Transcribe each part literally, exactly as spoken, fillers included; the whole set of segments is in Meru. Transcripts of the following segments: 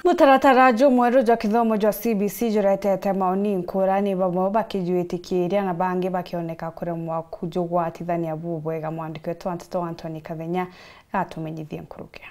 Mutaratara jumweru jwa kithomo jwa C B C juretete maoni nkurani, bamwe bakijwitikiria na bangi bakioneka kuremwa kujugwatithania bubwega. Mwandiki wetu wa nteto Anthony Kathenya atumenyithie nkurukia.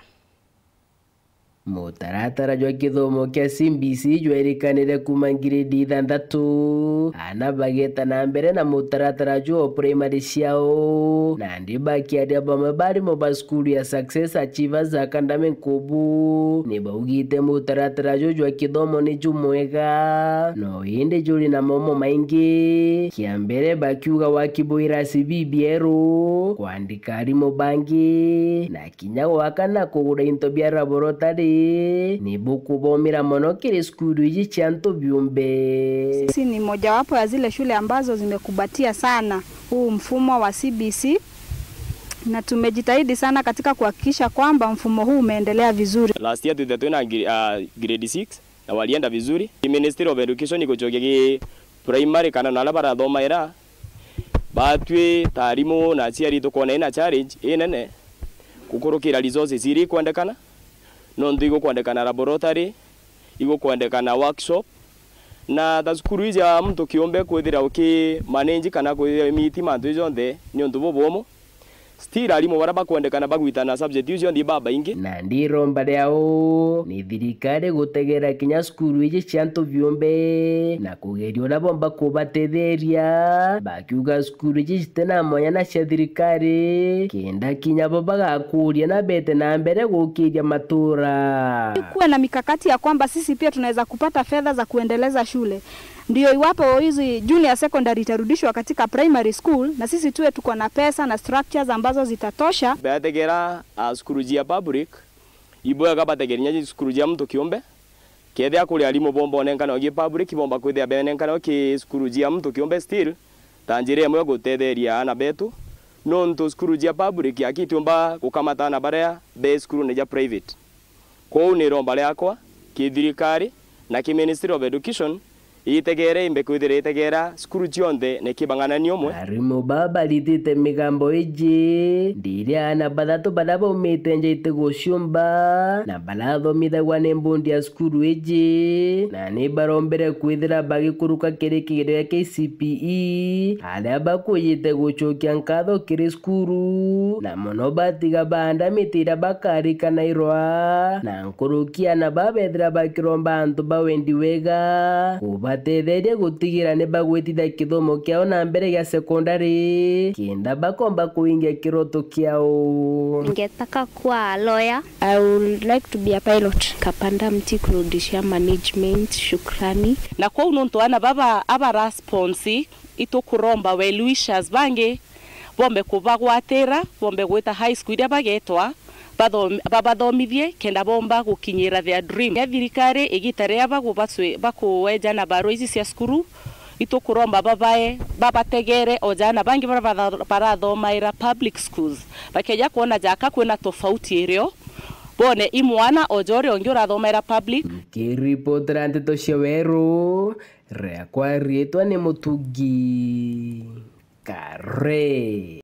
Mutaratara jwa kithomo kia C B C jwerikanire kuuma ngiredi ithanthatu, ana bageta na mbere na mutaratara juu o primary ciao. Nandi bakiaria, bamwe barimu ba cukuru ya Success Achievers Academy Nkubu ni baugite mutaratara juu jwa kithomo ni jumwega, no indi juri na momo maingi. Kia mbere bakiuga waki bwa irasi bibieru, kwandika arimu bangi, na kinya gwaka na kugura into bia laboratory ni bukubomira mono kiri cukuru iji cia antu biumbe. Sisi ni mojawapo ya zile shule ambazo zimekumbatia sana huu mfumo wa C B C, na tumejitahidi sana katika kuhakikisha kwamba mfumo huu umeendelea vizuri. Last year twithire twina gre-, ah, grade six, na walienda vizuri. Ki Ministry of Education igucokia ki primary kana na aria barathomaira, batwi ta arimu na aciari tukoona ina challenge inene gukurukira resources iria ikwendekana, nontu igukwendekana laboratory, igukwendekana workshop, na ta cukuru iji ya muntu kiumbe kwithira uki manage kana kwithira imiti mantu jonthe ni untu bubumu. Still, arimu baria bakwendekana bagwitana subject iu cionthe ibabaingi. Nandi iromba riao ni thirikari gutegera kinya cukuru iji cia antu biumbe na kugeria uria bomba kubatetheria, bakiuga cukuru iji citina mwanya na cia thirikari, kenda kinya bo bagakuria na bete na mbere gukiria matura. Kuwe na mikakati ya kwamba sisi pia tunaweza kupata fedha za kuendeleza shule. Ndio iwapo hizi junior secondary itarudishwa katika primary school, na sisi tuwe tuko na pesa na structures ambazo zitatosha. Bategera, ah, cukuru cia public, ibwega bategere inya cukuru cia muntu kiumbe. Kethira kuri arimu bomba onenkanwa ki public, bomba kwithira benenkanwa ki cukuru cia muntu kiumbe still, ta njira imwe ya gutetheria aana betu, nontu cukuru cia public aki itiumba gukamata aana baria be cukurune ja private. Kwou ni iromba riakwa ki thirikari na ki Ministry of Education itegere, imbe kwithira itegera cukuru cionthe na ikibang'anania umwe. Arimu baa baritite migambo iji, ndiria aana bathatu baria baumite nja itiguciumba na barathomithagua ni mbundi ya cukuru iji, na ni barombire kwithira bagikuruka kiri kigerio gia K C P E, aria bakwijite gucokia nkatho kiri cukuru, na mono batiga baanda miti iria bakarikanairwa, na nkuruki aana baa bethira bakiromba antu ba wendi wega kubatetheria gutigira ni bagwitithia kithomo kiao na mbere gia sekondari, kenda bakomba kuingia kiroto kiao. Ningetaka kuwa lawyer. I would like to be a pilot. Kapanda mti kurudishia management, shukrani. Na kwou nontu aana baba abara sponsor, itukuromba well wishers bangi bombe kubagwatira, bombe gwita high school iria bagetwa, bathom-, babathomithie kenda bomba gukinyira their dream. Ya thirikari igita riria bagubacwi-, bakueja na barua ici cia cukuru, itukuromba babae, babategere o jana bangi baria batha-, barathomaira public schools. Bakeja kwona jaka kwina tofauti irio, bone i mwana o ja uria ungi urathomaira public. Nkiripotera nteto cia Weru, riakwa riitwa ni Mutugi Kare.